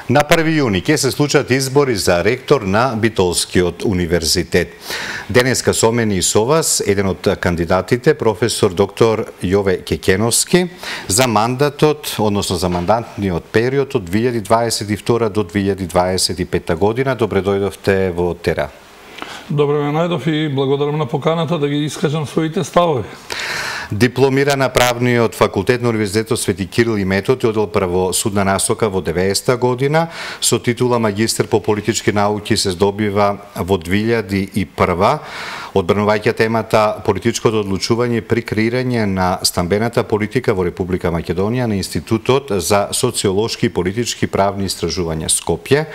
На 1 јуни ќе се случат избори за ректор на Битолскиот универзитет. Денеска со мене и со вас еден од кандидатите, професор доктор Јове Кекеновски, за мандатот, односно за мандатниот период од 2022 до 2025 година. Добре дојдовте во Тера. Добре ме најдов и благодарам на поканата да ги искажам своите ставови. Дипломира на правниот факултет на Универзитетот Свети Кирил и Методи, оддел правосудна насока во 90-та година, со титула магистар по политички науки се здобива во 2001. Одбранувајќи темата политичкото одлучување при креирање на стамбената политика во Република Македонија на Институтот за социолошки и политички правни истражувања Скопје.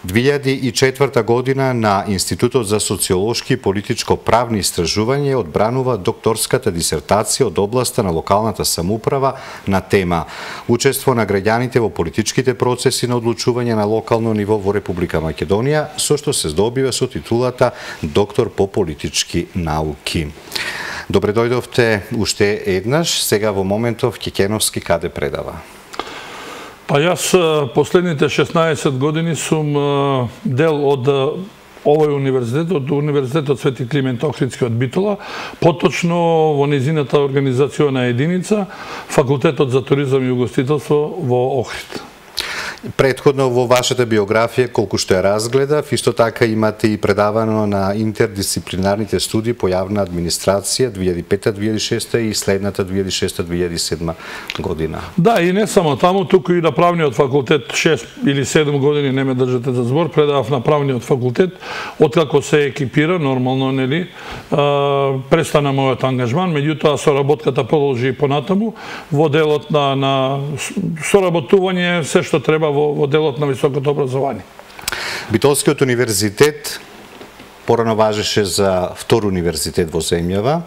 2004 година на Институтот за социолошки и политичко-правни истражувања одбранува докторската дисертација од областа на локалната самоуправа на тема Учество на граѓаните во политичките процеси на одлучување на локално ниво во Република Македонија, со што се здобива со титулата доктор по политички науки. Добре дојдовте уште еднаш, сега во моментов Кекеновски каде предава? Па јас последните 16 години сум дел од овој универзитет, од Универзитетот Свети Климент Охридски од Битола, поточно во низината организациона единица, Факултетот за туризам и угостителство во Охрид. Претходно во вашата биографија, колку што ја разгледав, исто така имате и предавано на интердисциплинарните студии по јавна администрација 2005-2006 и следната 2006-2007 година. Да, и не само таму, туку и на правниот факултет 6 или 7 години, не ме држате за збор, предавав на правниот факултет, откако се екипира, нормално, нели, престана мојот ангажман, меѓутоа соработката продолжи понатаму во делот на соработување, се што треба во делот на високото образование. Битолскиот универзитет порано важеше за втор универзитет во земјава.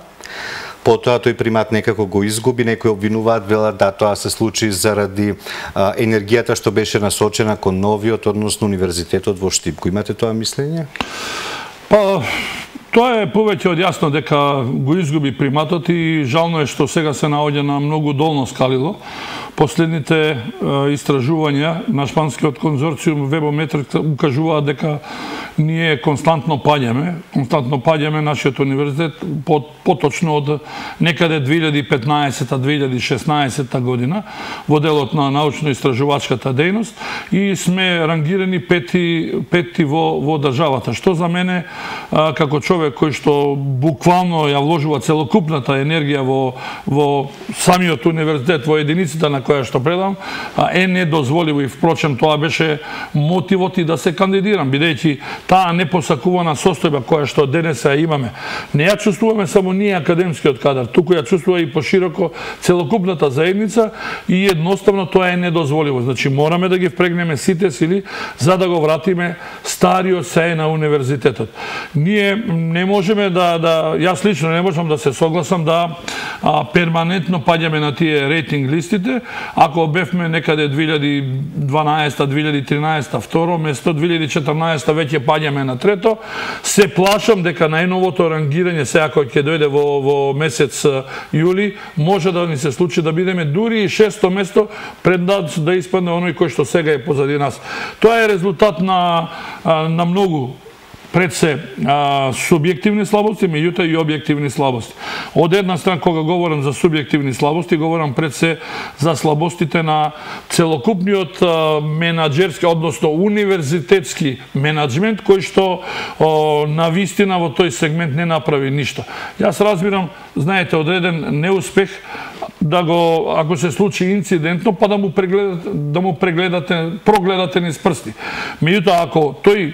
Потоа тој примат некако го изгуби, некои обвинуваат, велат да тоа се случи заради енергијата што беше насочена кон новиот, односно универзитетот во Штипко. Имате тоа мислење? Па, тоа е повеќе од јасно дека го изгуби приматот и жално е што сега се наоѓа на многу долно скалило. Последните истражувања на шпанскиот конзорциум Вебометрик укажуваат дека ние константно паѓаме нашиот универзитет, поточно од некаде 2015-2016 година во делот на научно-истражувачката дејност и сме рангирани пети во државата, што за мене како човек кој што буквално ја вложува целокупната енергија во самиот универзитет, во единицата на која што предам, е недозволиво и впрочем тоа беше мотивот и да се кандидирам, бидејќи таа непосакувана состојба која што денес ја имаме, не ја чувствуваме само ние академскиот кадар, туку ја чувствува и пошироко целокупната заедница и едноставно тоа е недозволиво. Значи мораме да ги впрегнеме сите сили за да го вратиме стариот сеј на универзитетот. Ние не можеме јас лично не можам да се согласам да перманентно паѓаме на тие рейтинг листите. Ако бевме некаде 2012-2013 второ место, 2014 веќе паѓаме на трето, се плашам дека најновото рангирање сега кој ќе дојде во месец јули може да ни се случи да бидеме дури и 6-то место пред да испадне оној кој што сега е позади нас. Тоа е резултат на многу пред се субјективни слабости, меѓутоа и објективни слабости. Од една страна, кога говорам за субјективни слабости, говорам пред се за слабостите на целокупниот менаџерски, односно универзитетски менаџмент, кој што на вистина во тој сегмент не направи ништо. Јас разбирам, знаете, одреден неуспех, ако се случи инцидентно, па да прогледате низ прсти. Меѓутоа, ако тој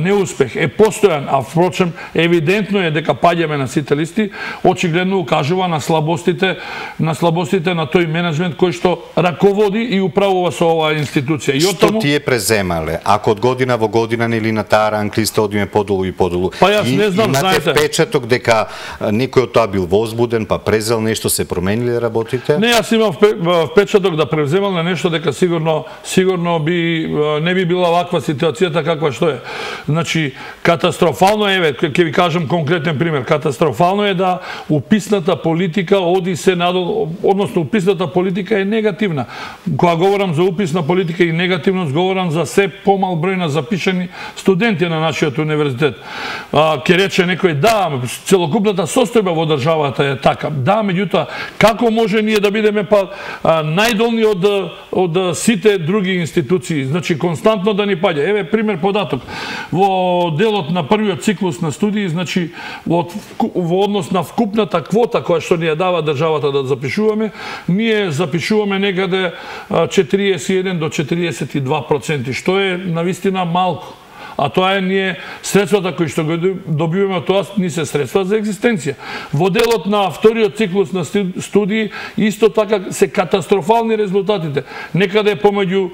неуспех е постојан, а впрочем евидентно е дека паѓаме на сите листи, очигледно укажува на слабостите на тој менеджмент кој што раководи и управува со оваа институција. Што тие преземале? Ако од година во година или на таа ранг листа одиме подолу и подолу, па јас не знам, имате впечаток дека некој од тоа бил возбуден, па презел нешто, се променили работите? Не, јас имам впечаток да превземам на нешто дека сигурно не би била ваква ситуацијата каква што е. Значи, катастрофално е, ќе ви кажам конкретен пример, катастрофално е да уписната политика оди се надолу, односно уписната политика е негативна. Кога говорам за уписна политика и негативност, говорам за се помал број на запишани студенти на нашиот универзитет. Ке рече некој, да, целокупната состојба во државата е така. Да, меѓутоа, како може ние да бидеме најдолни од сите други институции? Значи, константно да ни паѓа. Еве, пример податок. Во делот на првиот циклус на студии, значи, во однос на вкупната квота која што ни ја дава државата да запишуваме, ние запишуваме некаде 41 до 42%, што е навистина малку. А тоа е ние средствата кои што го добиваме од тоа ни се средства за екзистенција. Во делот на вториот циклус на студии исто така се катастрофални резултатите. Некаде помеѓу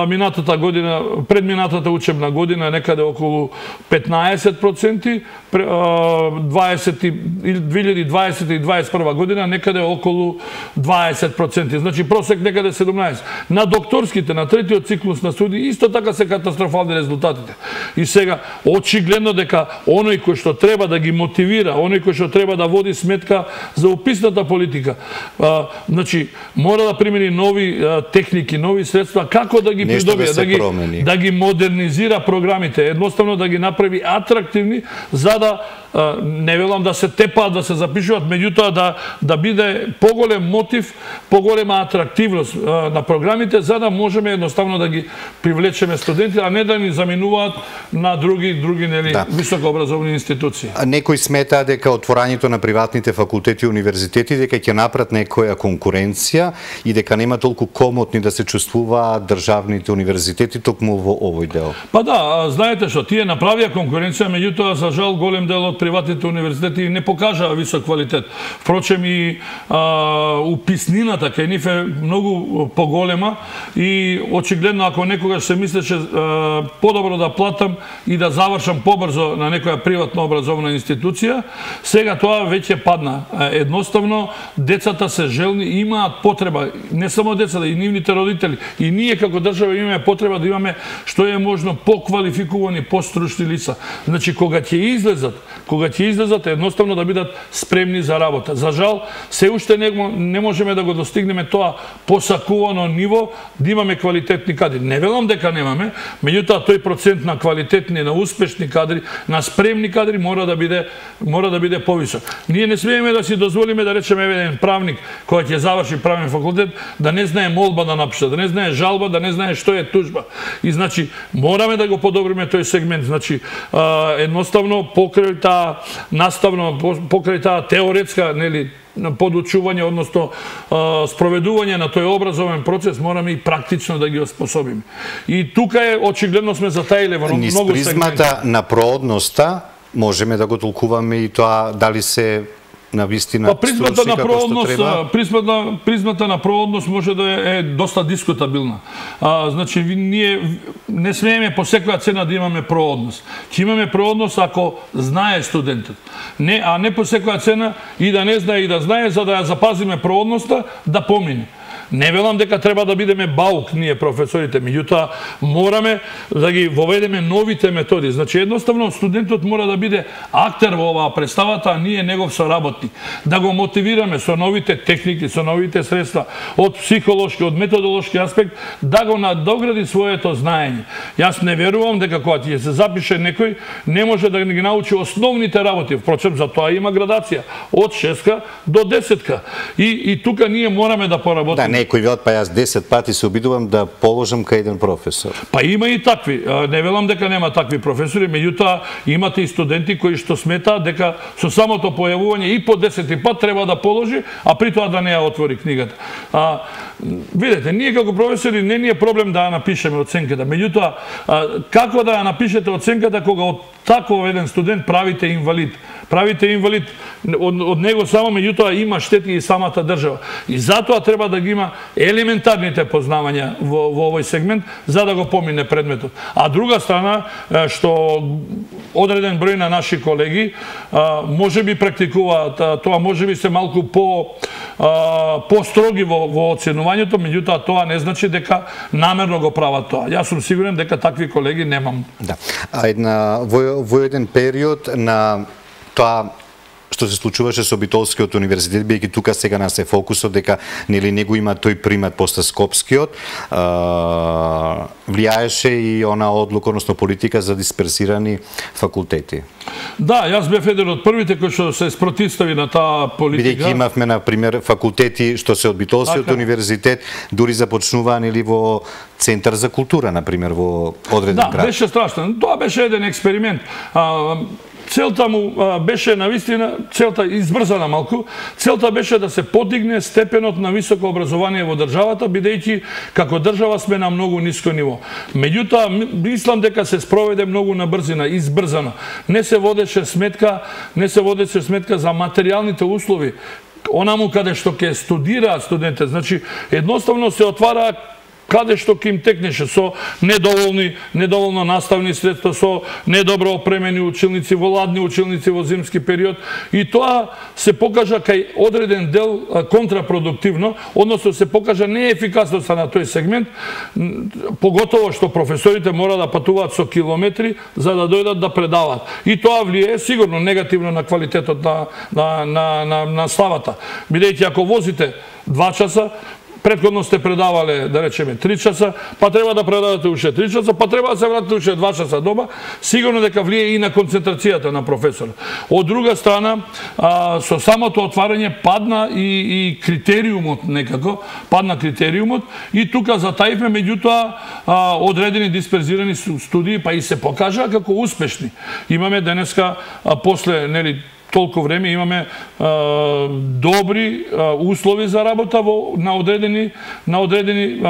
минатата година, предминатата учебна година некаде околу 15%, 2020 и 2021 година некаде околу 20%. Значи просек некаде 17%. На докторските, на третиот циклус на студии исто така се катастрофални резултатите. И сега, очигледно дека оној кој што треба да ги мотивира, оној кој што треба да води сметка за уписната политика, значи, мора да примени нови техники, нови средства, како да ги придобие, да ги модернизира програмите, едноставно да ги направи атрактивни, за да не велам да се тепаат, да се запишуваат, меѓутоа да биде поголем мотив, поголема атрактивност на програмите, за да можеме едноставно да ги привлечеме студенти, а не да ни заменуваат на други високообразовни институции. Некои сметаа дека отворањето на приватните факултети и универзитети дека ќе направат некоја конкуренција и дека нема толку комотни да се чувствуваат државните универзитети токму во овој дел. Па да, знаете што, тие направија конкуренција, меѓутоа за жал голем дел од приватните универзитети не покажаа висок квалитет. Впрочем и уписнината кај нив е многу поголема и очигледно ако некогаш се мислеше подобро да платам и да завршам побрзо на некоја приватно образовна институција, сега тоа веќе падна. Едноставно децата се желни, имаат потреба, не само децата, и нивните родители, и ние како држава имаме потреба да имаме што е можно поквалификувани, постручни лица. Значи кога ќе излезат, едноставно да бидат спремни за работа. За жал, се уште не можеме да го достигнеме тоа посакувано ниво, да имаме квалитетни кадри. Не велам дека немаме, меѓутоа тој процент на квалитетни, на успешни кадри, на спремни кадри мора да биде повисок. Ние не смееме да си дозволиме да речеме еден правник кој ќе заврши правен факултет да не знае молба да напише, да не знае жалба, да не знае што е тужба. И значи мораме да го подобриме тој сегмент. Значи едноставно покрај таа наставно, покрај таа теоретска, нели, подучување, односно спроведување на тој образовен процес, мораме и практично да ги оспособиме. И тука е очигледно сме затаиле во многу сегменти. Низ призмата на проодноста можеме да го толкуваме и тоа дали се на вистина призмата на проодност, призмата на проодност може да е доста дискутабилна. Значи ние не смееме по секоја цена да имаме проодност. Ќе имаме проодност ако знае студентот. А не по секоја цена и да не знае и да знае, за да ја запазиме проодноста, да помине. Не велам дека треба да бидеме баук ние професорите, меѓутоа мораме да ги воведеме новите методи. Значи едноставно студентот мора да биде актер во оваа представата, а ние негов соработник. Да го мотивираме со новите техники, со новите средства, од психолошки, од методолошки аспект, да го надогради своето знаење. Јас не верувам дека кога ќе се запише некој, не може да ги научи основните работи. Впрочем, за тоа има градација од 6 до 10. И тука ние мораме да поработиме. Некои велат, па јас 10 пати се обидувам да положам кај еден професор. Па има и такви. Не велам дека нема такви професори, меѓутоа имате и студенти кои што сметаат дека со самото појавување и по 10 пат треба да положи, а при тоа да не ја отвори книгата. Видете, ние како професори не ни е проблем да ја напишеме оценката, меѓутоа како да ја напишете оценката кога од таков еден студент правите инвалид? правите инвалид од него само, меѓутоа има штети и самата држава. И затоа треба да ги има елементарните познавања во овој сегмент за да го помине предметот. А друга страна, што одреден број на наши колеги можеби практикуваат тоа, можеби се малку по-строги во оценувањето, меѓутоа тоа не значи дека намерно го прават тоа. Јас сум сигурен дека такви колеги немам. Да. Во еден период на тоа што се случуваше со Битолскиот универзитет, бидејќи тука сега нас е фокусот дека нели него има тој примат после Скопскиот, влијаеше и она одлука, односно политика за дисперсирани факултети. Да, јас бев еден од првите кои што се спротивстави на таа политика. Бидејќи имавме на пример факултети што се од Битолскиот универзитет дури започнуваа нели во Центар за култура, на пример, во одреден град. Да, беше страшно. Тоа беше еден експеримент. Целта му беше навистина, целта избрзана малку, целта беше да се подигне степенот на високо образование во државата, бидејќи како држава сме на многу ниско ниво. Меѓутоа, мислам дека се спроведе многу на брзина, избрзано. Не се водеше сметка за материјалните услови, онаму каде што ќе студираат студентите. Значи, едноставно се отвара каде што ќе им текнеше, со недоволно наставни средства, со недобро опремени училници, во ладни училници во зимски период. И тоа се покажа кај одреден дел контрапродуктивно, односно се покажа неефикасноста на тој сегмент, поготово што професорите мора да патуваат со километри за да дојдат да предаваат. И тоа влијае сигурно негативно на квалитетот на славата. Бидејќи ако возите 2 часа, претходно сте предавале, да речеме, 3 часа, па треба да предавате уште 3 часа, па треба да се вратите уште 2 часа дома, сигурно дека влијае и на концентрацијата на професорот. Од друга страна, со самото отварање падна и критериумот некако, и тука затаивме, меѓутоа одредени дисперзирани студии, па и се покажа како успешни. Имаме денеска, после, нели, толку време имаме добри услови за работа на одредени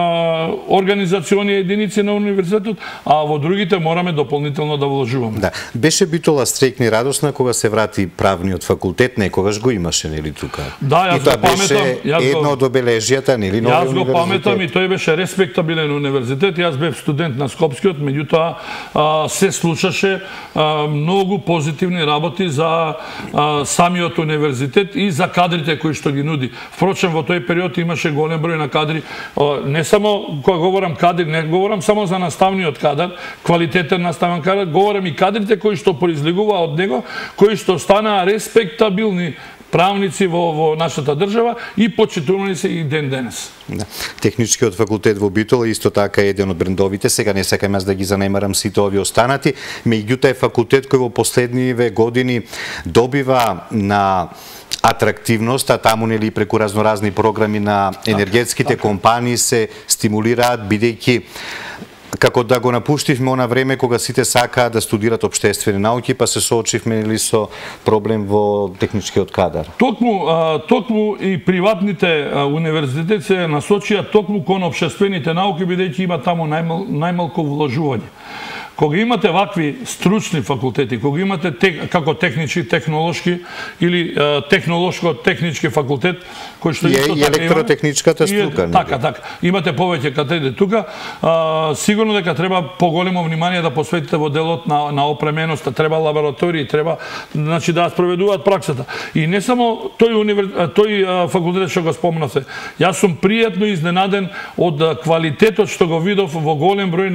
организациони единици на универзитетот, а во другите мораме дополнително да вложуваме. Да. Беше Битола стрекни радосна кога се врати правниот факултет, некогаш го имаше, нели, тука? Да, јас го паметам. Едно од обележјата, нели, новиот универзитет? Јас го паметам и тој беше респектабилен универзитет. Јас бев студент на Скопскиот, меѓутоа се случаше многу позитивни работи за самиот универзитет и за кадрите кои што ги нуди. Впрочем, во тој период имаше голем број на кадри. Не само, кога говорам кадри, не говорам само за наставниот кадар, квалитетен наставен кадар, говорам и кадрите кои што произлегува од него, кои што станаа респектабилни правници во нашата држава и почитувани се и ден денес. Да. Техничкиот факултет во Битола исто така е еден од брендовите, сега не сакам јас да ги занемарам сите овие останати, меѓутоа е факултет кој во последниве години добива на атрактивност, а таму нели преку разноразни програми на енергетските компании се стимулираат, бидејќи како да го напуштивме она време кога сите сакаат да студираат општествени науки, па се соочивме нели со проблем во техничкиот кадар. Токму и приватните универзитети се насочија токму кон општествените науки, бидејќи има таму најмалку вложување. Кога имате вакви стручни факултети, кога имате како технички, технолошки или технолошко-технички факултет, кој што исто така електротехничката струка. Така. Имате повеќе катедри тука. Сигурно дека треба поголемо внимание да посветите во делот на опременоста, треба лаборатории, треба значи да спроведуваат праксата. И не само тој факултет што го спомнавте. Јас сум пријатно изненаден од квалитетот што го видов во голем број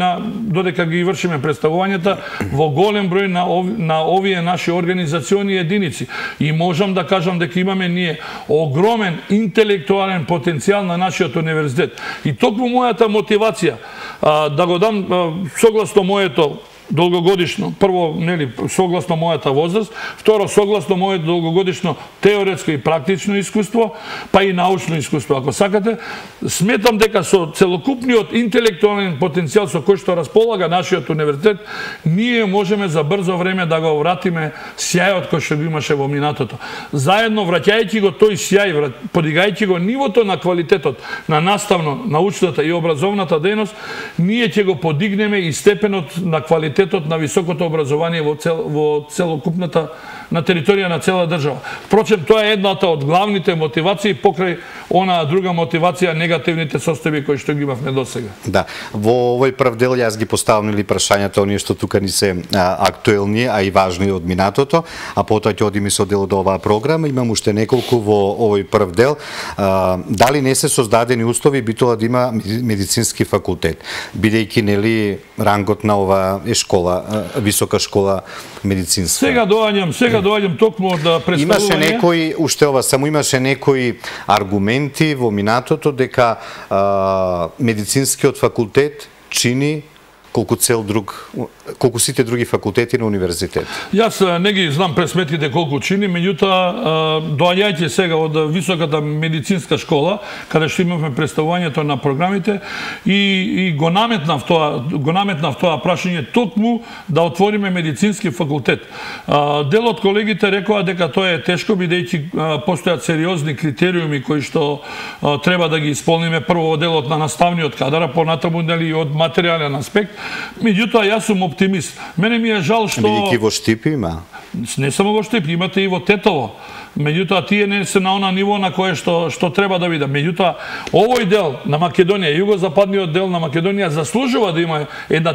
додека ги вршиме представувањата, во голем број на овие наши организациони единици. И можам да кажам дека имаме ние огромен интелектуален потенцијал на нашиот универзитет. И токму мојата мотивација да го дам согласно моето долгогодишно, прво, нели, согласно мојата возраст, второ, согласно моето долгогодишно теоретско и практично искуство, па и научно искуство, ако сакате, сметам дека со целокупниот интелектуален потенцијал со кој што располага нашиот универзитет, ние можеме за брзо време да го вратиме сјајот кој што го имаше во минатото. Заедно, враќајќи го тој сјај, подигајќи го нивото на квалитетот на наставно, научната и образовната дејност, ние ќе го подигнеме и степенот на квалитет на високото образование во целокупната на територија на цела држава. Впрочем, тоа е едната од главните мотивации покрај она друга мотивација, негативните состојби кои што ги имавме досега. Да, во овој прв дел јас ги поставам прашањата оние што тука ни се актуелни, а и важни од минатото, а потоа ќе одиме со дел од оваа програма. Имам уште неколку во овој прв дел. Дали не се создадени услови би тоа да има медицински факултет, бидејќи нели рангот на ова е школа, висока школа медицинска. Сега доаѓам токму од представување. Имаше некои, уште ова, само имаше некои аргументи во минатото дека медицинскиот факултет чини колку сите други факултети на универзитет. Јас не ги знам пресметите колку чини, меѓутоа доаѓајќи сега од високата медицинска школа, каде што имавме представувањето на програмите и го наметнав тоа прашање токму да отвориме медицински факултет. Дел од колегите рекоа дека тоа е тешко, бидејќи постојат сериозни критериуми кои што треба да ги исполниме, прво во делот на наставниот кадар, а понатаму нели од материјален аспект. Меѓутоа, јас сум оптимист. Мене ми е жал што... Бидејќи во Штип има? Не само во Штип, имате и во Тетово. Меѓутоа, тие не се на она ниво на кое што треба да биде. Меѓутоа, овој дел на Македонија, југозападниот дел на Македонија заслужува да има една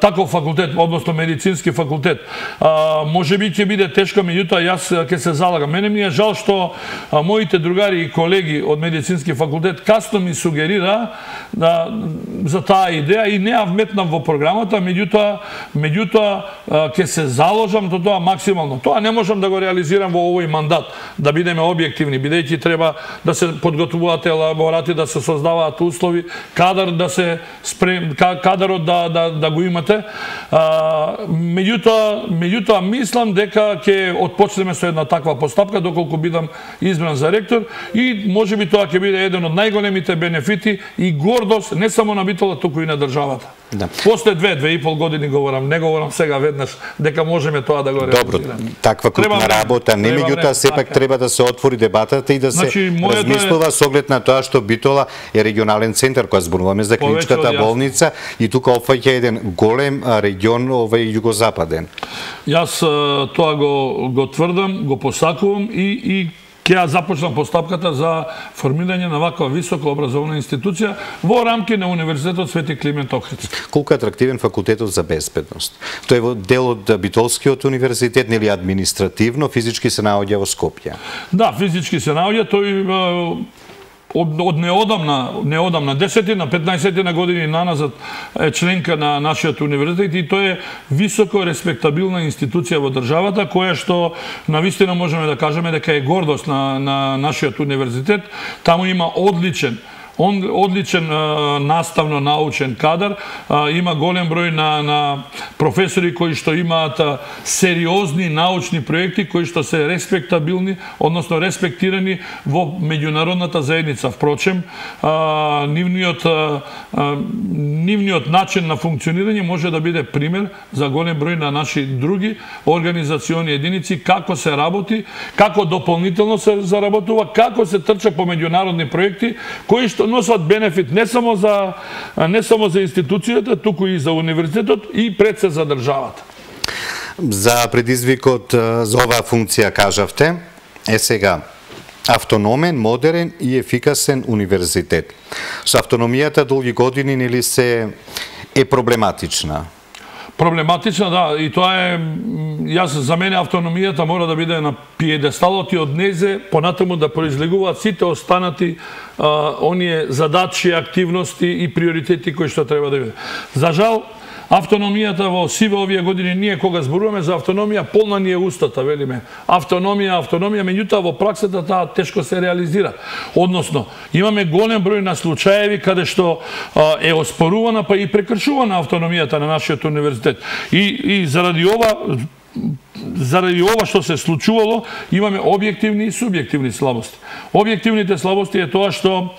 таков факултет, односно медицински факултет. Може би ќе биде тешко, меѓутоа јас ќе се залагам. Мене ми е жал што моите другари и колеги од медицински факултет касно ми сугерира за таа идеја и не ја вметнам во програмата, меѓутоа ќе се заложам до тоа максимално. Тоа не можам да го реализирам во овој мандат, да бидеме објективни, бидејќи треба да се подготвуваат елаборати, да се создаваат услови, кадарот да го имате. Меѓутоа мислам дека ќе отпочнеме со една таква постапка доколку бидам избран за ректор и можеби тоа ќе биде еден од најголемите бенефити и гордост не само на Битола, туку и на државата. Да. После 2,5 години говорам, не говорам сега веднаш дека можеме тоа да го реализираме. Добро, таква крупна работа, не меѓутоа сепак треба да се отвори дебатата и да се размислува со оглед на тоа што Битола е регионален центар, кога зборуваме за клиничката болница и тука опфаќа еден голем регион овој југозападен. Јас тоа го тврдам, го посакувам и ќе ја започнам постапката за формирање на ваква висока образовна институција во рамки на Универзитетот Свети Климент Охридски. Колку е атрактивен факултетот за безбедност? Тој е дел од Битолскиот универзитет, нели административно, физички се наоѓа во Скопје? Да, физички се наоѓа, тој од неодамна 10-15 години наназад е членка на нашиот универзитет и тој е високо респектабилна институција во државата, која што навистина можеме да кажеме дека е гордост на нашиот универзитет. Таму има одличен наставно-научен кадар, има голем број на професори кои што имаат сериозни научни проекти кои што се респектабилни, односно респектирани во меѓународната заедница. Впрочем, нивниот начин на функционирање може да биде пример за голем број на наши други организациони единици, како се работи, како дополнително се заработува, како се трча по меѓународни проекти кои што носат бенефит не само за институцијата, туку и за универзитетот и пред се за државата. За предизвикот за оваа функција кажавте, е сега автономен, модерен и ефикасен универзитет. Со автономијата долги години нели се е проблематична? Проблематична, да, и тоа е, за мене автономијата мора да биде на пиедесталот и од незе понатаму да произлегуваат сите останати оние задачи, активности и приоритети кои што треба да биде. За жал, автономијата во сиве овие години, ние кога зборуваме за автономија, полна ни е устата, велиме. Автономија, меѓутоа во праксата таа тешко се реализира. Односно, имаме голем број на случаеви каде што е оспорувана па и прекршувана автономијата на нашиот универзитет. И заради ова што се случувало, имаме објективни и субјективни слабости. Објективните слабости е тоа што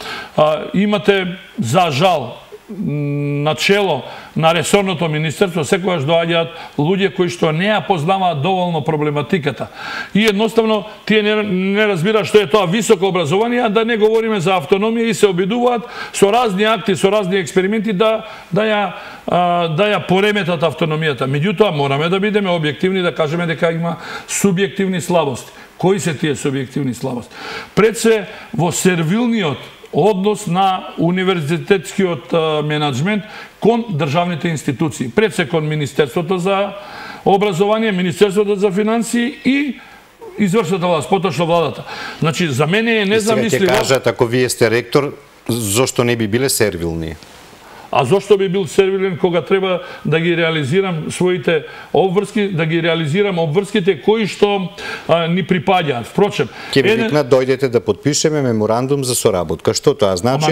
имате, за жал, начело на ресорното министерство секогаш доаѓаат луѓе кои што не ја познаваат доволно проблематиката. И едноставно тие не разбираат што е тоа високо образование, а да не говориме за автономија и се обидуваат со разни акти, со разни експерименти да ја пореметат автономијата. Меѓутоа мораме да бидеме објективни, да кажеме дека има субјективни слабости. Кои се тие субјективни слабости? Пред се во сервилниот однос на универзитетскиот менаџмент кон државните институции. Пред се кон Министерството за образование, Министерството за финансии и извршната власт, поточно владата. Значи, за мене е незамисливо... Сега ќе кажат, ако вие сте ректор, зошто не би биле сервилни? А зошто би бил сервилен кога треба да ги реализирам своите обврски, да ги реализирам обврските кои што ни припаѓаат. Впрочем, ќе ви викнат дојдете да подпишеме меморандум за соработка. Што тоа значи?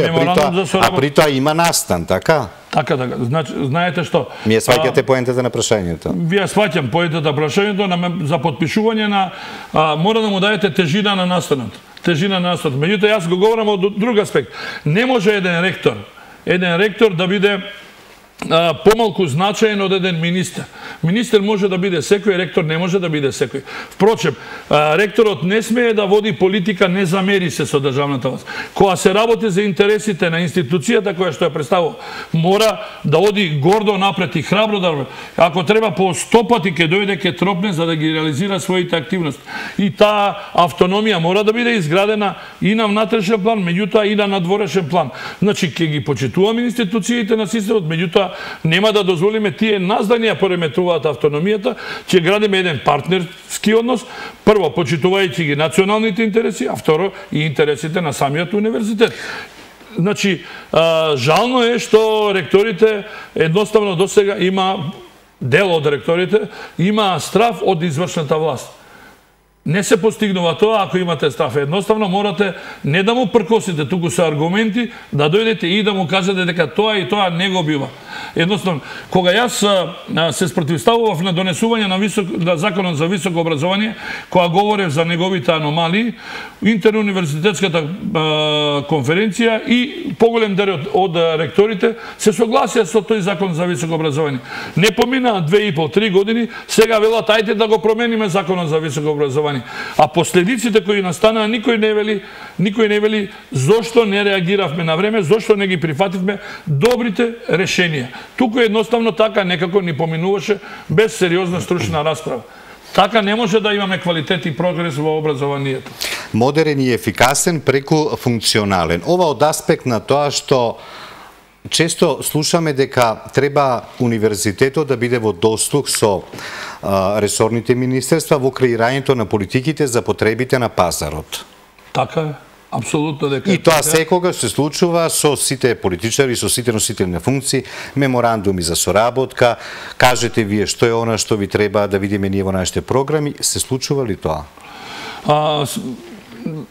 А при тоа има настан, така? Така. Значи, знаете што? Ми ја сваќате поентата на прашањето. Вие сваќам поентата на прашањето за подпишување на мора да му даете тежина на настанот. Тежина на настанот. Меѓутоа јас го говорам од друг аспект. Не може еден ректор да биде помалку значаен од еден министер. Министер може да биде секој, ректор не може да биде секој. Впрочем, ректорот не смее да води политика, не замери се со државната власт. Кога се работи за интересите на институцијата која што ја представува, мора да оди гордо напред и храбро да... Ако треба по 100 пати ќе дојде, ќе тропне за да ги реализира своите активности. И таа автономија мора да биде изградена и на внатрешен план, меѓутоа и на надворешен план. Значи, ќе ги почитуваме институциите на системот, меѓутоа нема да дозволиме тие нас да ни ја пореметуваат автономијата, ќе градиме еден партнерски однос, прво почитувајќи ги националните интереси, а второ и интересите на самиот универзитет. Значи, жално е што ректорите едноставно досега дел од ректорите има страф од извршната власт. Не се постигнува тоа ако имате страф. Едноставно морате не да му пркосите, туку со аргументи, да дојдете и да му кажете дека тоа и тоа не го бива. Едноставно, кога јас се спротивставував на донесување на законот за високо образование, кога говорев за неговите аномалии, интеруниверзитетската конференција и поголем дел од ректорите се согласија со тој закон за високо образование. Не поминаа 2,5-3 години, сега велат ајде да го промениме законот за високо образование. А последиците кои настанаа, никој не вели зошто не реагиравме на време, зошто не ги прифативме добрите решенија. Туку едноставно така некако ни поминуваше без сериозна стручна расправа. Така не може да имаме квалитет и прогрес во образованието. Модерен и ефикасен преку функционален. Ова од аспект на тоа што често слушаме дека треба универзитетот да биде во дослуг со ресорните министерства во креирањето на политиките за потребите на пазарот. Така е. Апсолутно дека. И тоа секогаш се случува со сите политичари, со сите носители на функции, меморандуми за соработка, кажете вие што е она што ви треба да видиме ние во нашите програми, се случува ли тоа?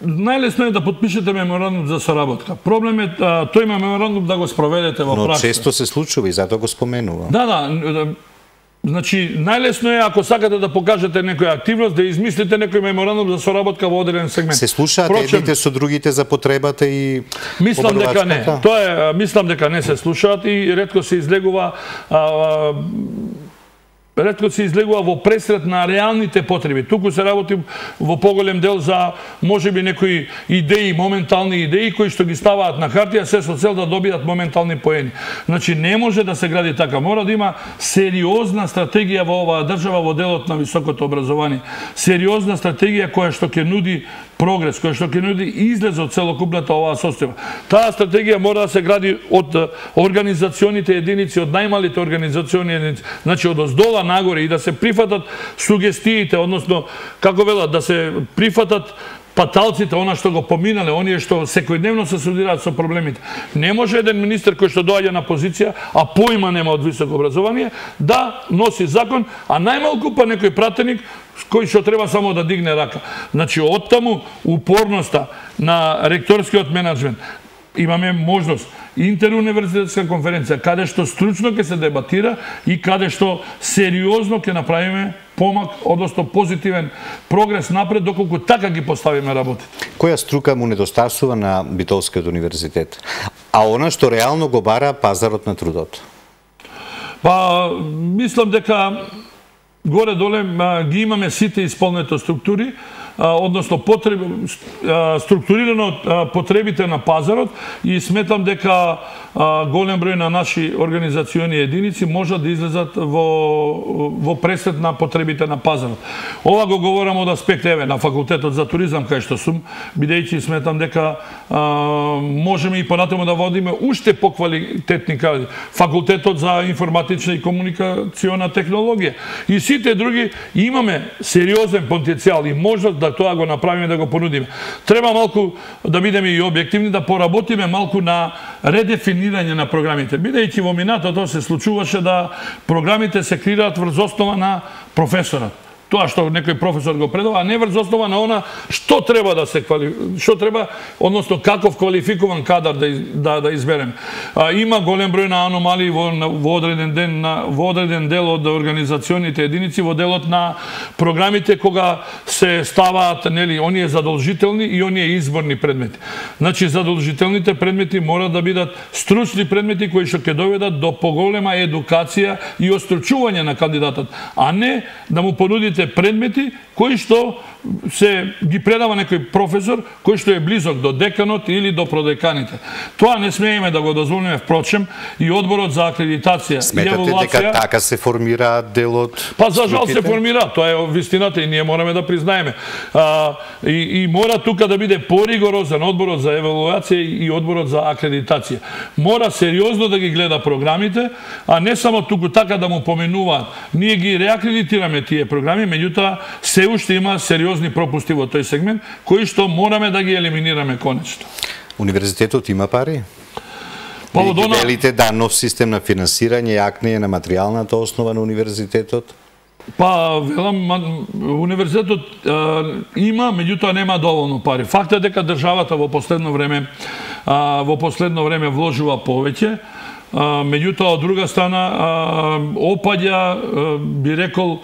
Најлесно е да подпишете меморандум за соработка. Проблем е тој меморандум да го спроведете во пракса. Но често се случува и затоа го споменувам. Да. Значи, најлесно е ако сакате да покажете некоја активност, да измислите некој меморандум за соработка во одреден сегмент. Се слушаат едните со другите за потребата и мислам дека не. Мислам дека не се слушаат и ретко се излегува во пресрет на реалните потреби. Туку се работи во поголем дел за можеби некои идеи, моментални идеи кои што ги ставаат на хартија се со цел да добијат моментални поени. Значи не може да се гради така. Мора да има сериозна стратегија во оваа држава во делот на високото образование. Сериозна стратегија која што ќе нуди прогрес, која што ќе нуди излез од целокупната оваа состојба. Таа стратегија мора да се гради од организационите единици, од најмалите организациони единици, значи од оздола нагоре и да се прифатат сугестиите, односно, како велат, да се прифатат паталците, она што го поминале, оние што секојдневно се судираат со проблемите. Не може еден министер кој што доаѓа на позиција, а поима нема од високо образование, да носи закон, а најмалку па некој пратеник кој што треба само да дигне рака. Значи, оттаму упорноста на ректорскиот менеджмент. Имаме можност интеруниверзитетска конференција, каде што стручно ќе се дебатира и каде што сериозно ќе направиме помак, односно позитивен прогрес напред, доколку така ги поставиме работите. Која струка му недостасува на Битолскиот универзитет? А она што реално го бара пазарот на трудот? Па, мислам дека горе-доле ги имаме сите исполнето структури, односно структурирано потребите на пазарот и сметам дека голем број на наши организациони единици можат да излезат во пресет на потребите на пазарот. Ова го говорам од аспект на факултетот за туризам кај што сум, бидејќи сметам дека можеме и понатаму да водиме уште поквалитетни факултетот за информатична и комуникациона технологија. И сите други имаме сериозен потенцијал и можност да тоа го направиме, да го понудиме. Треба малку да бидеме и објективни, да поработиме малку на редефинирање на програмите. Бидејќи во минатото се случуваше да програмите се креираат врз основа на професорот. Тоа што некој професор го предава, а не врз основа на она што треба да се односно каков квалификуван кадар да изберем. Има голем број на аномалии во одреден дел од организационите единици, во делот на програмите кога се ставаат оние задолжителни и оние изборни предмети. Значи задолжителните предмети мора да бидат стручни предмети кои што ќе доведат до поголема едукација и остручување на кандидатот, а не да му понудите предмети кои што се ги предава некој професор кој што е близок до деканот или до продеканите. Тоа не смееме да го дозволиме, впрочем, и одборот за акредитација и еволуација. Сметате дека така се формира делот? Па за жал се формира, тоа е вистината и ние мораме да признаеме. И мора тука да биде поригорозен одборот за еволуација и одборот за акредитација. Мора сериозно да ги гледа програмите, а не само туку така да му поменуваат. Ние ги реакредитираме тие програми, меѓутоа се уште има сериозни пропусти во тој сегмент, кои што мораме да ги елиминираме конечно. Универзитетот има пари? Велите да нов систем на финансирање, јакнење на материјалната основа на универзитетот? Па, велам, универзитетот има, меѓутоа нема доволно пари. Факт е дека државата во последно време вложува повеќе, меѓутоа од друга страна опаѓа, би рекол,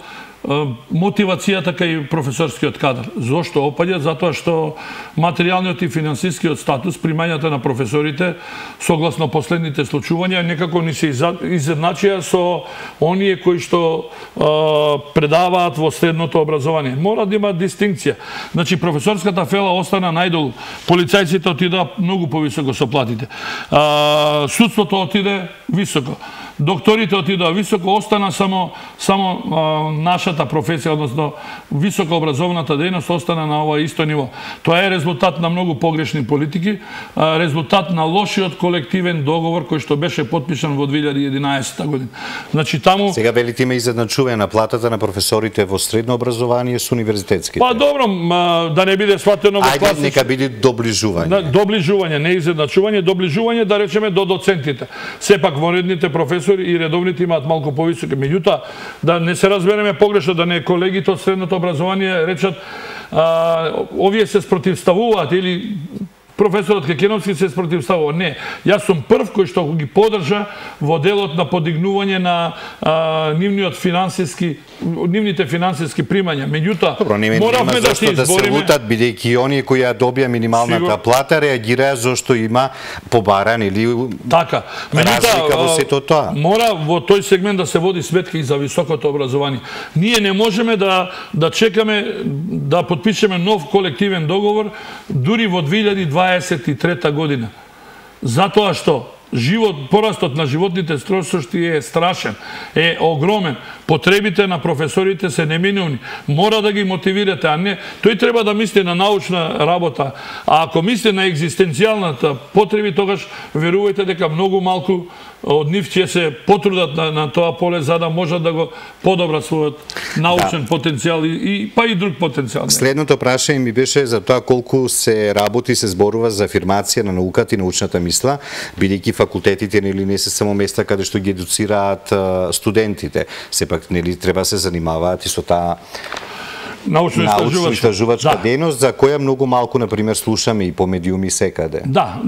мотивацијата кај професорскиот кадар. Зошто опаѓа? Затоа што материјалниот и финансискиот статус, примањата на професорите, согласно последните случувања, некако ни се изедначија со оние кои што предаваат во средното образование. Мора да има дистинкција. Значи, професорската фела остана најдолу. Полицајците отидаа многу повисоко со платите. Судството отиде високо. Докторите отидоа високо, остана само нашата професија, односно високо образовната дејност остана на ова исто ниво. Тоа е резултат на многу погрешни политики, резултат на лошиот колективен договор кој што беше потпишан во 2011 година. Значи таму сега велите има изедначување на платата на професорите во средно образование со универзитетските. Па добро, да не биде сватено во класично. Ајде нека биде доближување. Доближување, не изедначување, доближување, да речеме до доцентите. Сепак вонредните професори и редовните имаат малку повисоки. Меѓутоа, да не се разбереме погрешно, да не колегите од средното образование речат овие се спротивставуваат или професорот Кекеновски се спротивставува. Не, јас сум прв кој што ги поддржа во делот на подигнување на нивните финансиски примања. Меѓутоа, моравме да се избориме. Лутат, бидејќи оние кои ја добија минималната плата реагираа зашто има побаран или така. Разлика во сето тоа. Мора во тој сегмент да се води сметка и за високото образование. Ние не можеме да чекаме да потпишеме нов колективен договор дури во 2023 година. Затоа што порастот на животните трошоци е страшен, е огромен. Потребите на професорите се неминувни. Мора да ги мотивирате, а не тој треба да мисли на научна работа. А ако мисли на екзистенцијалната потреби, тогаш верувајте дека многу малку од нив ќе се потрудат на тоа поле за да можат да го подобрат својот научен потенцијал па и друг потенцијал. Следното прашање ми беше за тоа колку се работи, се зборува за афирмација на науката и научната мисла, бидејќи факултетите не се само места каде што ги едуцираат студентите. Сепак треба се занимаваат и со таа научно-истражувачка дејност, за која многу малку, например, слушаме и по медиуми секаде. Да,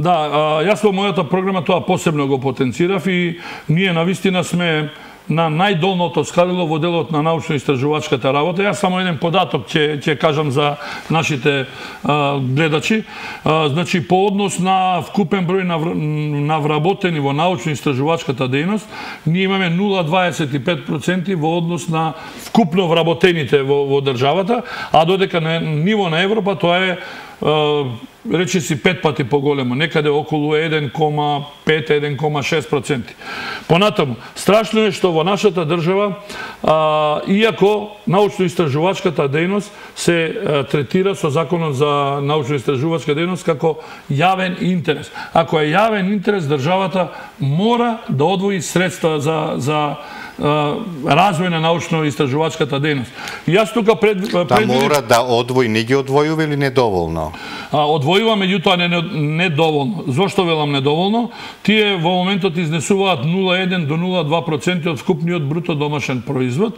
јас во мојата програма тоа посебно го потенцирав и ние навистина сме на најдолното скалило во делот на научно-истражувачката работа. Јас само еден податок ќе кажам за нашите гледачи. Значи, по однос на вкупен број на вработени во научно-истражувачката дејност, ние имаме 0,25% во однос на вкупно вработените во државата, а додека на ниво на Европа тоа е речи си 5 пати поголемо, некаде околу 1,5-1,6%. Понатаму, страшно е што во нашата држава, иако научно-истражувачката дејност се третира со Законот за научно-истражувачка дејност како јавен интерес. Ако е јавен интерес, државата мора да одвои средства за развој на научно-истражувачката дејност. Јас тука мора да одвои, не ги одвојува или недоволно? Одвојува, меѓутоа недоволно. Зошто велам недоволно? Тие во моментот изнесуваат 0,1 до 0,2% од вкупниот бруто домашен производ.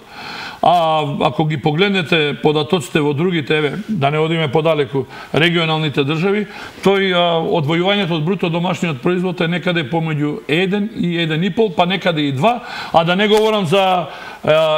А ако ги погледнете податоците во другите, да не одиме подалеку, регионалните држави, тој одвојувањето од бруто домашниот производ е некаде помеѓу 1 и 1,5, па некаде и 2, а да не говорам за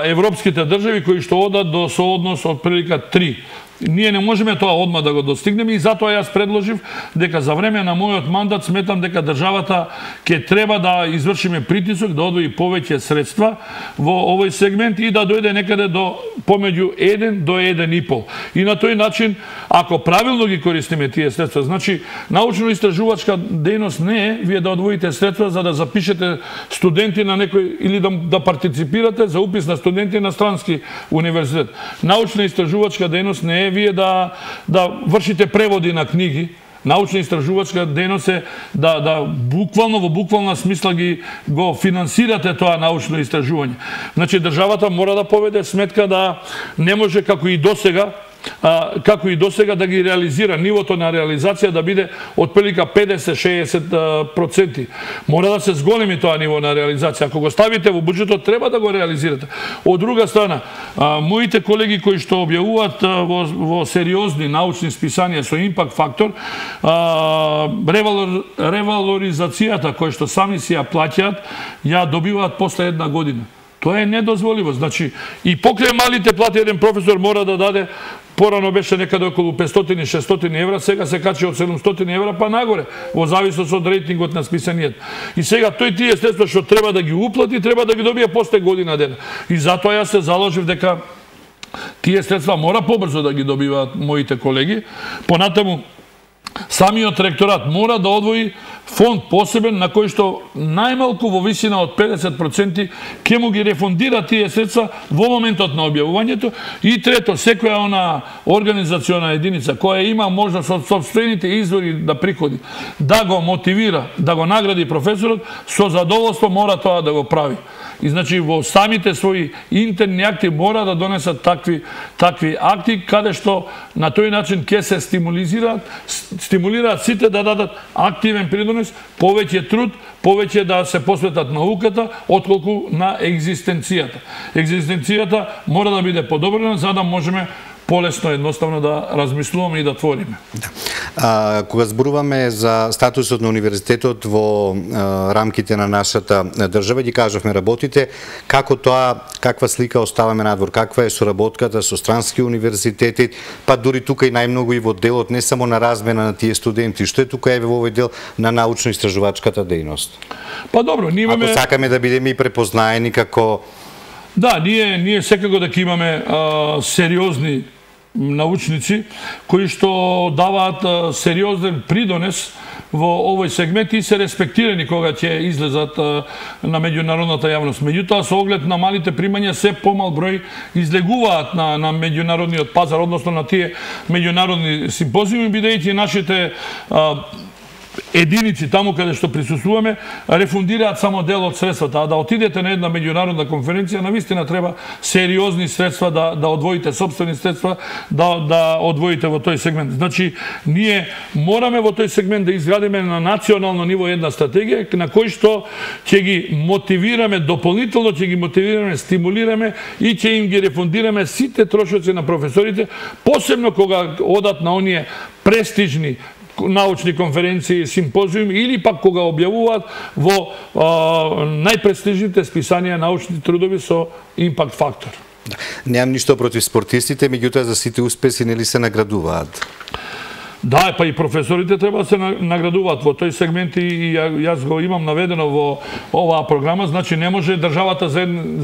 европските држави кои што одат до сооднос од прилика 3. Ние не можеме тоа одма да го достигнеме и затоа јас предложив дека за време на мојот мандат сметам дека државата ќе треба да извршиме притисок да одвои повеќе средства во овој сегмент и да дојде некаде до помеѓу 1 до 1,5. И на тој начин, ако правилно ги користиме тие средства, значи научно-истражувачка дејност не е вие да одвоите средства за да запишете студенти на некој или да партиципирате за упис на студенти на странски универзитет. Научно-истражувачка дејност не е вие да вршите преводи на книги. Научно-истражувачка дејност е да буквално, во буквална смисла го финансирате тоа научно истражување. Значи, државата мора да поведе сметка да не може како и досега да ги реализира, нивото на реализација да биде од прилика 50-60%. Мора да се зголеми тоа ниво на реализација. Ако го ставите во буџетот, треба да го реализирате. Од друга страна, моите колеги кои што објавуваат во сериозни научни списанија со импакт фактор, ревалоризацијата која што сами си ја плаќаат, ја добиваат после една година. Тоа е недозволиво. Значи, и покрај малите плати еден професор мора да даде, порано беше некаде околу 500-600 евра, сега се качи од 700 евра па нагоре, во зависност од рейтингот на списанијата. И сега тој тие средства што треба да ги уплати, треба да ги добие после година дена. И затоа јас се заложив дека тие средства мора побрзо да ги добиваат моите колеги. Понатаму, самиот ректорат мора да одвои фонд посебен на кој што најмалку во висина од 50% ќе му ги рефундира тие средства во моментот на објавувањето. И трето, секоја она организациона единица која има можност од сопствените извори да приходи, да го мотивира, да го награди професорот, со задоволство мора тоа да го прави. И значи во самите своји интерни акти мора да донесат такви акти каде што на тој начин ќе се стимулираат сите да дадат активен придонес, повеќе труд, повеќе да се посветат науката, отколку на екзистенцијата. Екзистенцијата мора да биде подобрена за да можеме полесно едноставно да размислуваме и да твориме. Кога зборуваме за статусот на универзитетот во рамките на нашата држава, ги кажавме работите, како тоа, каква слика оставаме надвор, каква е соработката со странски универзитети, па дури тука и најмногу и во делот не само на размена на тие студенти, што е тука еве во овој дел на научно-истражувачката дејност. Па добро, ние имаме... Ако сакаме да бидеме и препознаени како... Да, ние секако дека имаме сериозни научници кои што даваат сериозен придонес во овој сегмент и се респектирани кога ќе излезат на меѓународната јавност. Меѓутоа, со оглед на малите примања, се помал број излегуваат на меѓународниот пазар, односно на тие меѓународни симпозиуми, бидејќи нашите единици таму каде што присуствуваме рефундираат само дел од средствата, а да отидете на една меѓународна конференција навистина треба сериозни средства да одвоите, сопствени средства да одвоите во тој сегмент. Значи, ние мораме во тој сегмент да изградиме на национално ниво една стратегија на кој што ќе ги мотивираме дополнително, ќе ги мотивираме, стимулираме и ќе им ги рефундираме сите трошоци на професорите, посебно кога одат на оние престижни научни конференции, симпозиуми или пак кога објавуваат во најпрестижните списанија научни трудови со импакт фактор. Немам ништо против спортистите, меѓутоа за сите успеси нели се наградуваат? Да, па и професорите треба да се наградуваат во тој сегмент и јас го имам наведено во оваа програма, значи не може државата за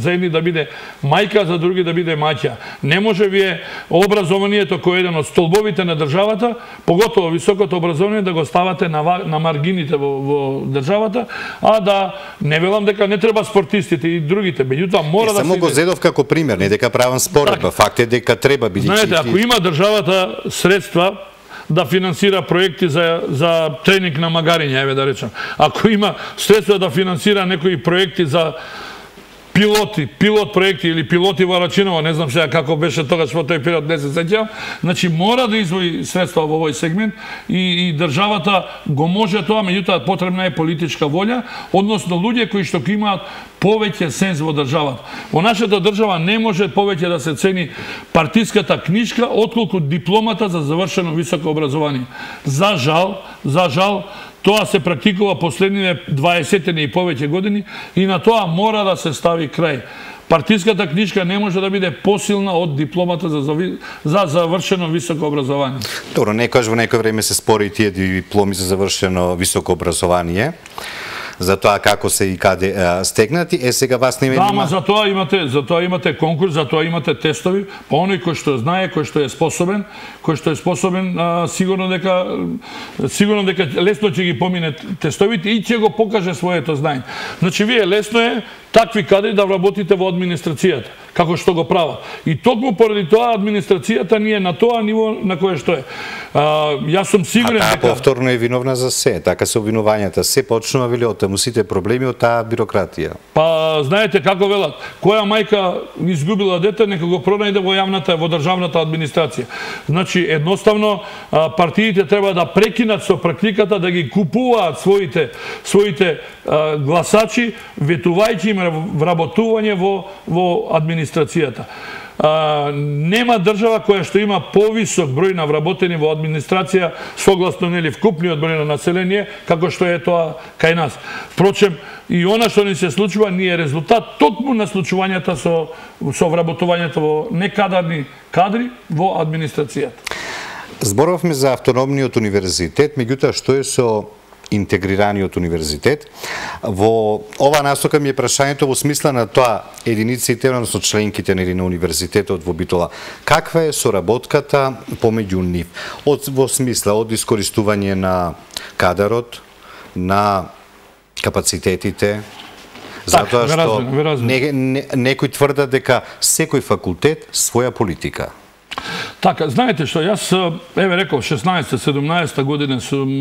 едни да биде мајка, за други да биде маќа. Не може вие образованието кој е еден од столбовите на државата, поготово високото образование да го ставате на маргините во државата, а да не велам дека не треба спортистите и другите, меѓутоа мора да се... Само го зедов како пример, не дека правам споредба, факт е дека треба бидејќи... Знаете, ако има државата средства да финансира проекти за тренинг на магариња, еве да речам. Ако има средства да финансира некои проекти за пилот проекти или пилоти во Рачиново, не знам сега како беше тогаш во тој период, не се сеќавам, значи мора да издвои средства во овој сегмент и државата го може тоа, меѓутоа потребна е политичка волја, односно луѓе кои што имаат повеќе сенс во државата. Во нашата држава не може повеќе да се цени партиската книжка отколку дипломата за завршено високо образование. За жал, тоа се практикува последните 20 и повеќе години и на тоа мора да се стави крај. Партиската книжка не може да биде посилна од дипломата за завршено високо образование. Добро, некојаш во некој време се спори тие дипломи за завршено високо образование, за тоа како се и каде стегнати, сега вас не има... Да, ама за тоа имате конкурс, за тоа имате тестови, па оној кој што знае, кој што е способен, сигурно дека лесно ќе ги помине тестовите и ќе го покаже своето знаење. Значи, вие лесно е такви кадри да вработите во администрацијата, како што го прават. И токму поради тоа администрацијата не е на тоа ниво на кое што е. Јас сум сигурен дека... А таа повторно е виновна за се, така се обвинувањата. Се почнува вели од таму сите проблеми од таа бирократија. Па, знаете како велат, која мајка изгубила дете, нека го пронајде во државната администрација. Значи, едноставно, партиите треба да прекинат со практиката да ги купуваат своите гласачи, ветувајќи им вработување во администрацијата. Нема држава која што има повисок број на вработени во администрација согласно вкупниот број на население, како што е тоа кај нас. Впрочем, и она што ни се случува не е резултат токму на случувањата со вработувањето во некадарни кадри во администрацијата. Зборовме за автономниот универзитет, меѓутоа што е со интегрираниот универзитет? Во ова насока ми е прашањето во смисла на тоа единиците, односно членките на универзитетот во Битола. Каква е соработката помеѓу нив? Во смисла од искористување на кадарот, на капацитетите, затоа што некои тврдат дека секој факултет своја политика. Така, знаете што, јас, еве рекол, 16-17 година сум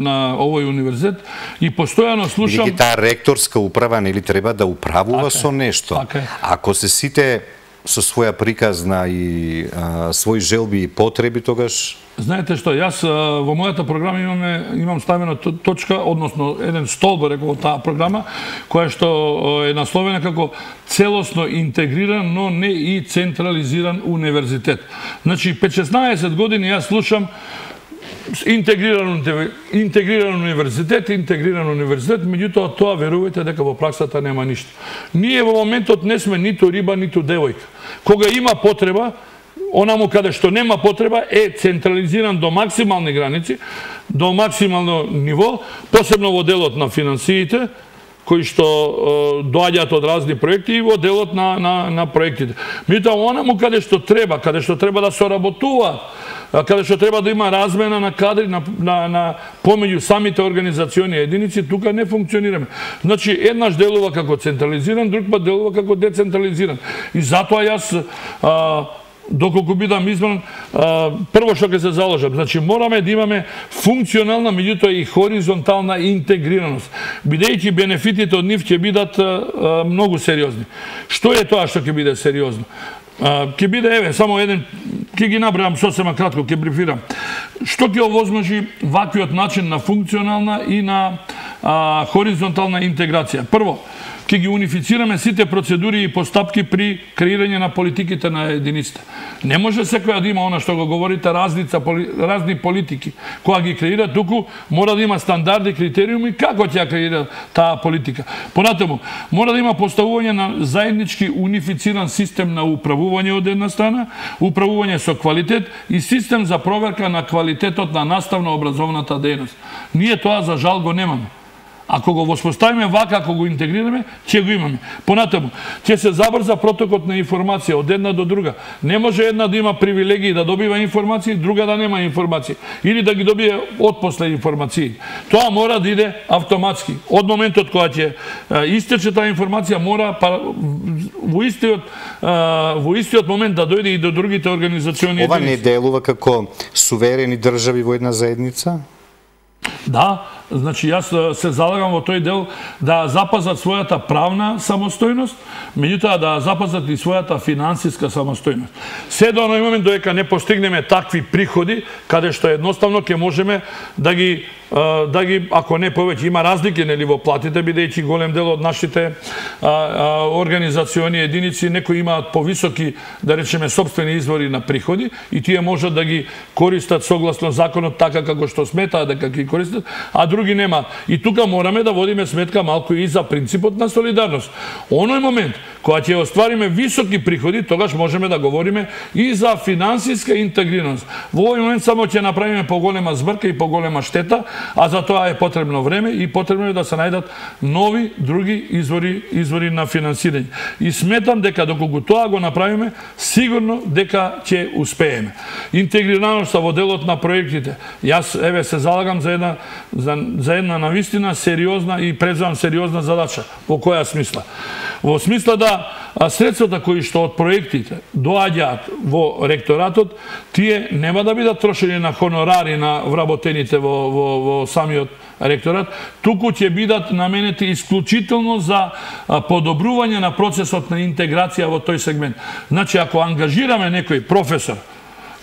на овој универзитет и постојано слушам... Бидејќи таа ректорска управа нели треба да управува со нешто. Ако се сите со своја приказна и своји желби и потреби, тогаш... Знаете што, јас во мојата програма имам ставена точка, односно еден столб, рекол, таа програма, која што е насловена како целосно интегриран, но не и централизиран универзитет. Значи, 5-16 години јас слушам интегриран универзитет, меѓутоа тоа верувајте дека во праксата нема ништо. Ние во моментот не сме ниту риба, ниту девојка. Кога има потреба, онаму каде што нема потреба е централизиран до максимални граници, до максимално ниво, посебно во делот на финансиите, кои што доаѓаат од разни проекти и во делот на проектите. Меѓутоа, онаму каде што треба да соработуваат, каде што треба да има размена на кадри помеѓу самите организациони единици, тука не функционираме. Значи, еднаш делува како централизиран, друг пат делува како децентрализиран. И затоа јас доколку бидам избран, прво што ќе се заложам, значи мораме да имаме функционална, меѓутоа и хоризонтална интегрираност, бидејќи бенефитите од нив ќе бидат многу сериозни. Што е тоа што ќе биде сериозно? Ќе биде, еве, само еден, ќе ги набројам сосема кратко, ќе брифирам. Што ќе овозможи ваквиот начин на функционална и на хоризонтална интеграција? Прво, ќе ги унифицираме сите процедури и постапки при креирање на политиките на единиците. Не може секоја да има она што го говорите разни политики. Кога ги креира, туку мора да има стандарди, критериуми како ќе креира таа политика. Понатаму, мора да има поставување на заеднички унифициран систем на управување од една страна, управување со квалитет и систем за проверка на квалитетот на наставно-образовната дејност. Ние тоа за жал го немаме. Ако го воспоставиме вака, ако го интегрираме, ќе го имаме. Понатаму, ќе се забрза протокот на информација од една до друга. Не може една да има привилегии да добива информации, друга да нема информации. Или да ги добие отпосле информации. Тоа мора да иде автоматски. Од моментот кога ќе истече таа информација, мора во истиот момент да дојде и до другите организациони. Ова не делува како суверени држави во една заедница? Да, значи јас се залагам во тој дел да запазат својата правна самостојност, меѓутоа да запазат и својата финансиска самостојност. Се до оној момент додека не постигнеме такви приходи, каде што едноставно ќе можеме да ги ако не повеќе, има разлики нели во платите, бидејќи голем дел од нашите организациони единици некои имаат повисоки, да речеме, сопствени извори на приходи и тие можат да ги користат согласно законот така како што сметаат дека ги користат, а други нема. И тука мораме да водиме сметка малку и за принципот на солидарност. Оној момент кога ќе оствариме високи приходи, тогаш можеме да говориме и за финансиска интегрираност. Во овој момент само ќе направиме поголема збрка и поголема штета, а за тоа е потребно време и потребно е да се најдат нови други извори на финансирање. И сметам дека доколку тоа го направиме, сигурно дека ќе успееме. Интегрираноста во делот на проектите. Јас се залагам за една навистина сериозна и презувам сериозна задача. Во која смисла? Во смисла да средствата кои што од проектите доаѓаат во ректоратот, тие нема да бидат трошени на хонорари на вработените во самиот ректорат, туку ќе бидат наменети исклучително за подобрување на процесот на интеграција во тој сегмент. Значи, ако ангажираме некој професор,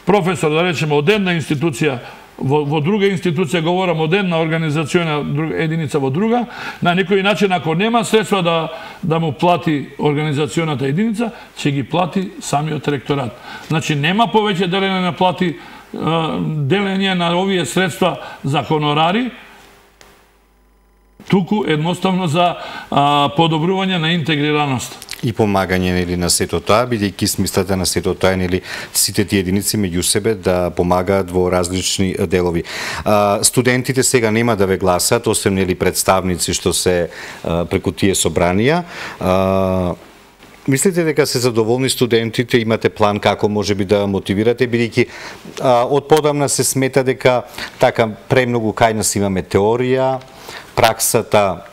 да речеме, од една институција во друга институција, говорам од една организациона единица во друга, на некој начин, ако нема средства да му плати организационата единица, ќе ги плати самиот ректорат. Значи, нема повеќе делење на плати, делење на овие средства за хонорари, туку едноставно за подобрување на интегрираност. И помагање нели на сето тоа, бидејќи смислата на сето тоа нели сите тие единици меѓу себе да помагаат во различни делови. Студентите сега нема да ве гласат, освен нели представници што се преку тие собранија. Мислите дека се задоволни студентите, имате план како можеби да мотивирате, бидејќи од подамна се смета дека така премногу кај нас имаме теорија, праксата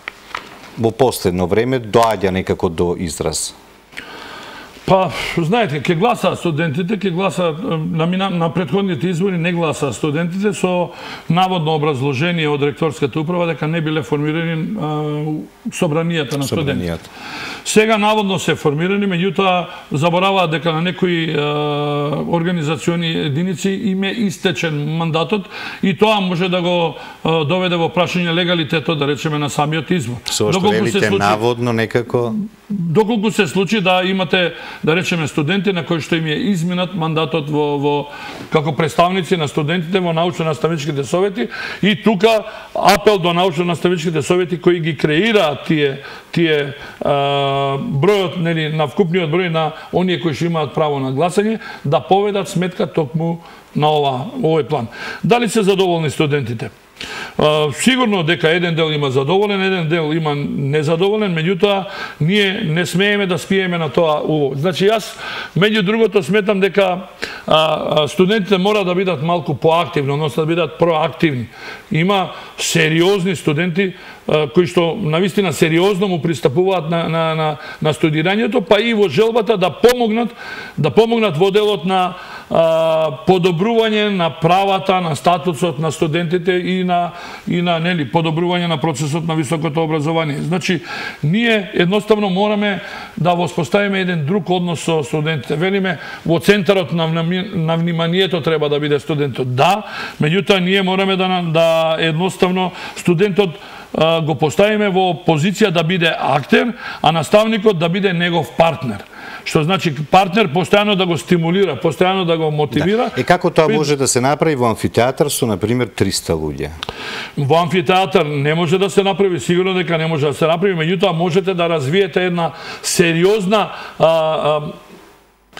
во последно време доаѓа некако до израз? Па, знаете, ќе гласаат студентите, ќе гласаат на претходните избори, не гласаат студентите со наводно образложение од ректорската управа дека не биле формирани собранијата на студентите. Сега наводно се формирани, меѓутоа забораваат дека на некои организациони единици им е истечен мандатот и тоа може да го доведе во прашање легалитетот, да речеме, на самиот избор. Со што велите наводно некако? Доколку се случи да имате, да речеме, студенти на кои што им е изминат мандатот како представници на студентите во научно-наставничките совети, и тука апел до научно-наставничките совети кои ги креираат тие бројот, нели, на вкупниот број на оние кои што имаат право на гласање, да поведат сметка токму на овој план. Дали се задоволни студентите? Сигурно дека еден дел има задоволен, еден дел има незадоволен, меѓутоа ние не смееме да спиеме на тоа уво. Значи, јас меѓу другото сметам дека студентите мора да бидат малку поактивни, односно да бидат проактивни. Има сериозни студенти кои што навистина сериозно му пристапуваат на студирањето, па и во желбата да помогнат во делот на подобрување на правата, на статусот на студентите и на нели подобрување на процесот на високото образование. Значи, ние едноставно мораме да воспоставиме еден друг однос со студентите. Велиме, во центарот на вниманието треба да биде студентот. Да, меѓутоа ние мораме да едноставно студентот го поставиме во позиција да биде актер, а наставникот да биде негов партнер. Што значи партнер постојано да го стимулира, постојано да го мотивира. Да. Како тоа може да се направи во амфитеатар со, например, 300 луѓе? Во амфитеатар не може да се направи, сигурно дека не може да се направи, меѓутоа можете да развиете една сериозна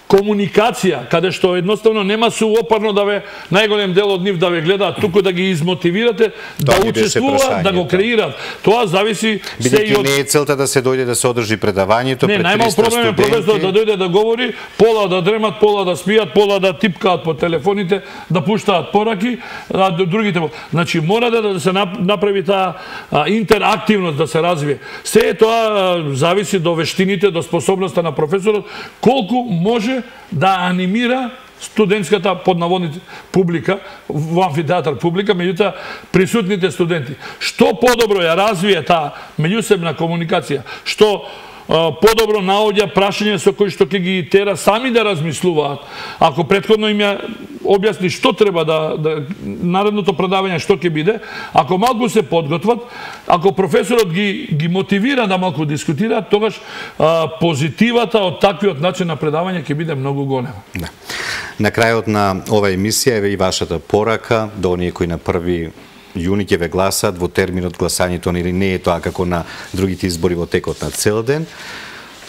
комуникација, каде што едноставно нема суопарно да ве најголем дел од нив да ве гледаат, туку да ги измотивирате да учествуваат, да го креираат. Тоа зависи се и од... Не е целта да се дојде да се одржи предавањето пред 300 студенти. Не, најмал проблем е професор да дојде да говори, пола да дремат, пола да спијат, пола да типкаат по телефоните, да пуштаат пораки, а другите... Значи, мора да се направи таа интерактивност да се развие. Се тоа зависи до вештините, до способноста на професорот, колку може да анимира студентската поднаводните публика, во амфитеатар публика, меѓутоа присутните студенти. Што подобро ја развие таа меѓусебна комуникација, што подобро наоѓа прашања со кои што ќе ги тера сами да размислуваат. Ако претходно им ја објасни што треба да наредното предавање што ќе биде, ако малку се подготват, ако професорот ги мотивира да малку дискутираат, тогаш позитивата од таквиот начин на предавање ќе биде многу голема. Да. На крајот на ова емисија е и вашата порака до оние кои на 1 јуни ќе ве гласаат во терминот гласањето или не е тоа како на другите избори во текот на цел ден.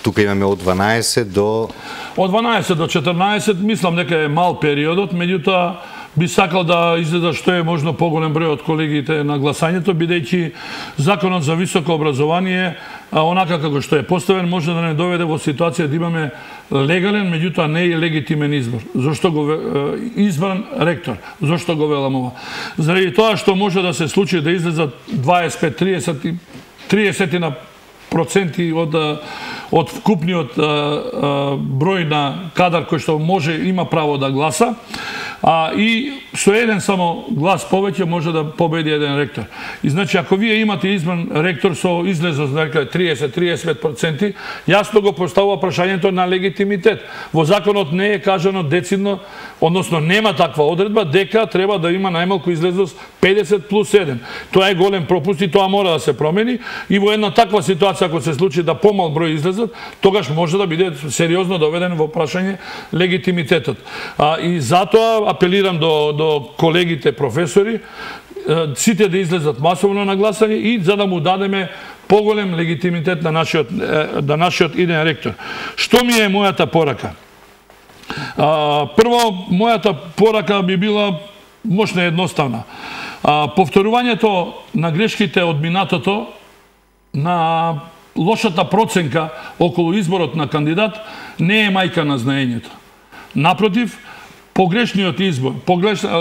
Тука имаме од 12 до... Од 12 до 14, мислам дека е мал периодот, меѓутоа би сакал да излезе што е можно поголем број од колегите на гласањето, бидејќи законот за високо образование, онака како што е поставен, може да не доведе во ситуација да имаме легален, меѓутоа не и легитимен избор. Зошто го избран ректор? Зошто го велам ова? Заради тоа што може да се случи да излезат 25-30% од вкупниот број на кадар кој што може има право да гласа, и со еден само глас повеќе може да победи еден ректор. И значи, ако вие имате избран ректор со излезност на 30-35%, јасно го поставува прашањето на легитимитет. Во законот не е кажано децидно, односно нема таква одредба, дека треба да има најмалку излезност 50+1. Тоа е голем пропуст и тоа мора да се промени. И во една таква ситуација, ако се случи да помал број излезат, тогаш може да биде сериозно доведен во прашање легитимитетот. И затоа апелирам до колегите професори, сите да излезат масовно на гласање и за да му дадеме поголем легитимитет на нашиот иден ректор. Што ми е мојата порака? Прво, мојата порака би била мощна и едноставна. Повторувањето на грешките од минатото, на лошата проценка околу изборот на кандидат не е мајка на знаењето. Напротив, погрешниот избор,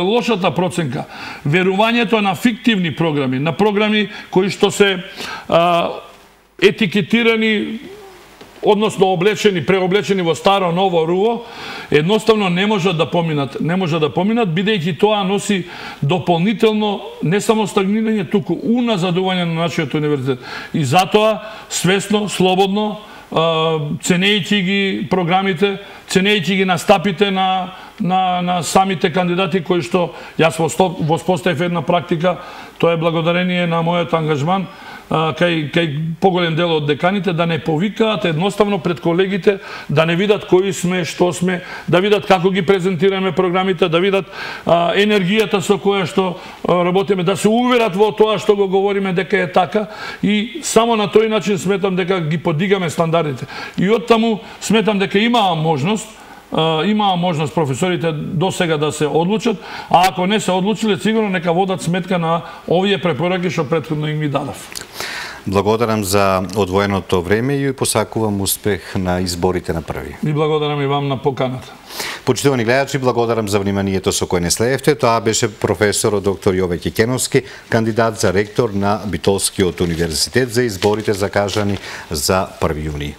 лошата проценка, верувањето на фиктивни програми, на програми кои што се етикетирани, односно преоблечени во старо ново руво, едноставно не можат да поминат, бидејќи тоа носи дополнително не само стагнирање, туку уназадување на нашиот универзитет. И затоа свесно, слободно, ценејќи ги програмите, ценејќи ги настапите на самите кандидати кои што јас воспоставив една практика, тоа е благодарение на мојот ангажман кај поголем дел од деканите, да не повикаат едноставно пред колегите, да не видат кои сме, што сме, да видат како ги презентираме програмите, да видат енергијата со која што работиме, да се уверат во тоа што го говориме дека е така, и само на тој начин сметам дека ги подигаме стандардите. И оттаму сметам дека имаа можност професорите до сега да се одлучат, а ако не се одлучиле, сигурно нека водат сметка на овие препораки што претходно им ги дадав. Благодарам за одвоеното време и посакувам успех на изборите на 1. И благодарам и вам на поканата. Почитувани гледачи, благодарам за вниманието со кој не следевте. Тоа беше професорот доктор Јове Кекеновски, кандидат за ректор на Битолскиот универзитет за изборите закажани за 1 јуни.